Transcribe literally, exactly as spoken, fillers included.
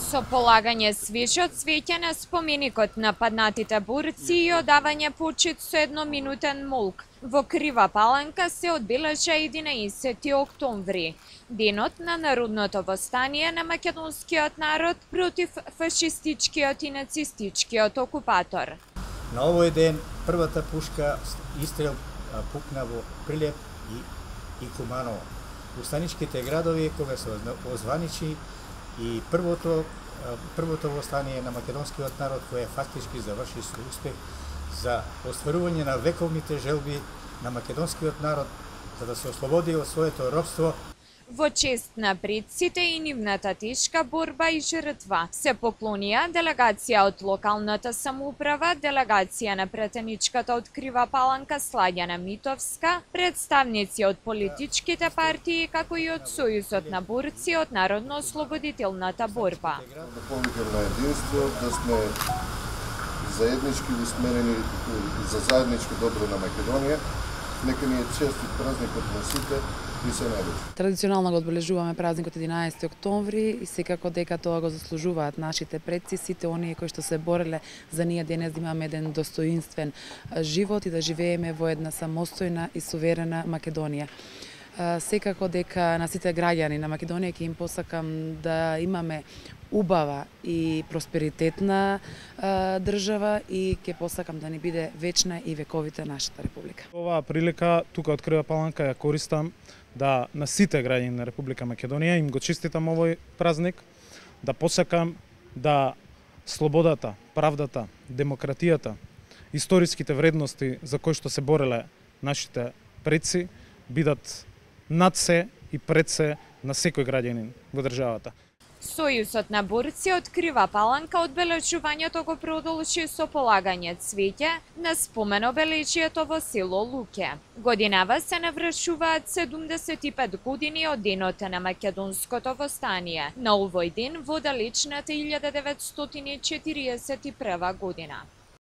со полагање свеже од цвеќе на споменикот на паднатите борци и одавање почит со едноминутен молк. Во Крива Паланка се одбележа единаесети октомври, денот на народното востание на македонскиот народ против фашистичкиот и нацистичкиот окупатор. На овој ден првата пушка истрел пукна во Прилеп и, и Куманово. Устаничките градови кога се озваничи и првото првото востание на македонскиот народ кое фактички заврши со успех за остварување на вековните желби на македонскиот народ за да се ослободи од своето робство. Во чест на предците и нивната тешка борба и жртва се поклонија делегација од локалната самоуправа, делегација на претеничката од Крива Паланка Сладјана Митовска, представници од политичките партии, како и од Сојузот на борци од народно-ослободителната борба. Да повикам на единство, да сме заеднички усмерени за заедничко добро на Македонија. Нека ни е честит празникот на сите и се најдобро. Традиционално го одбележуваме празникот единаесети октомври и секако дека тоа го заслужуваат нашите предци, сите оние кои што се бореле за ние денес да имаме еден достоинствен живот и да живееме во една самостојна и суверена Македонија. Секако дека на сите граѓани на Македонија ќе им посакам да имаме убава и просперитетна а, држава и ќе посакам да ни биде вечна и вековите нашата република. Оваа прилика тука од Крива Паланка ја користам да на сите граѓани на Република Македонија им го честитам овој празник, да посакам да слободата, правдата, демократијата, историските вредности за кои што се бореле нашите предци бидат над се и пред се на секој граѓанин во државата. Сојузот на борци од Крива Паланка одбележувањето го продолжи со полагање цвеќе на спомен обележјето во село Луке. Годинава се навршуваат седумдесет и пет години од денот на македонското востание, на овој ден во далечната илјада деветстотини четириесет и прва година.